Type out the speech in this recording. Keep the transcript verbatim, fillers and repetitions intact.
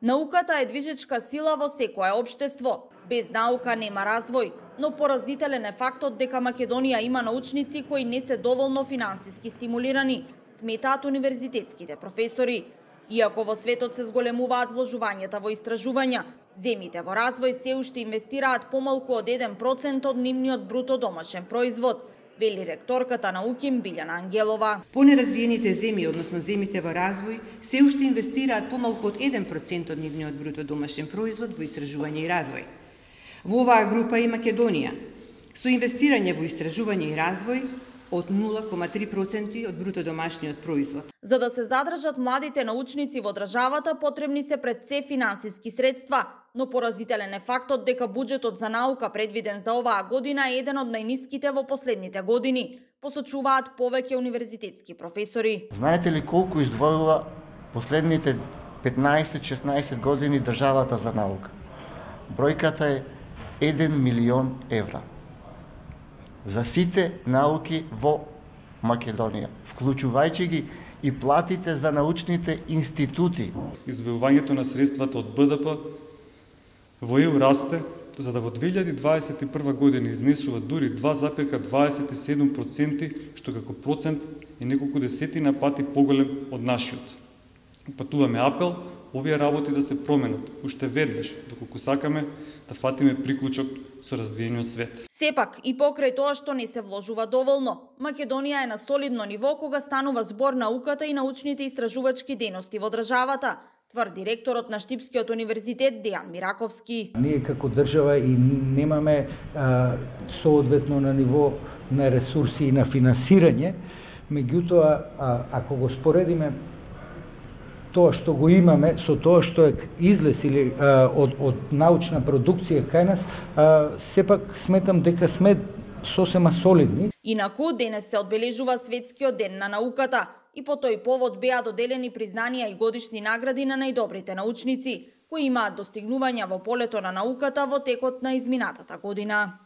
Науката е движечка сила во секое општество. Без наука нема развој, но поразителен е фактот дека Македонија има научници кои не се доволно финансиски стимулирани, сметаат универзитетските професори. Иако во светот се зголемуваат вложувањата во истражувања, земјите во развој се уште инвестираат помалку од еден процент од нивниот бруто домашен производ, вели ректорката на УКИМ Билјана Ангелова. Понеразвиените земји, односно земјите во развој, се уште инвестираат помалку од еден процент од нивниот бруто домашен производ во истражување и развој. Во оваа група и Македонија, со инвестирање во истражување и развој од нула кома три проценти од бруто домашниот производ. За да се задржат младите научници во државата, потребни се пред се финансиски средства, но поразителен е фактот дека буџетот за наука предвиден за оваа година е еден од најниските во последните години, посочуваат повеќе универзитетски професори. Знаете ли колку издвојува последните петнаесет-шеснаесет години државата за наука? Бројката е еден милион евра за сите науки во Македонија, вклучувајќи ги и платите за научните институти. Издвојувањето на средствата од Б Д П во Е У расте, за да во две илјади дваесет и прва година изнесува дури два запирка дваесет и седум проценти, што како процент е неколку десетина пати поголем од нашиот. Патуваме апел овие работи да се променат уште веднаш, доколку сакаме да фатиме приклучок со развиениот свет. Сепак, и покрај тоа што не се вложува доволно, Македонија е на солидно ниво кога станува збор науката и научните истражувачки дејности во државата, тврди ректорот на Штипскиот универзитет Дејан Мираковски. Ние како држава и немаме а, соодветно на ниво на ресурси и на финансирање, меѓутоа, а, ако го споредиме тоа што го имаме со тоа што е излез или а, од, од научна продукција кај нас, а, сепак сметам дека сме сосема солидни. Инаку, денес се одбележува Светскиот ден на науката и по тој повод беа доделени признанија и годишни награди на најдобрите научници, кои имаат достигнувања во полето на науката во текот на изминатата година.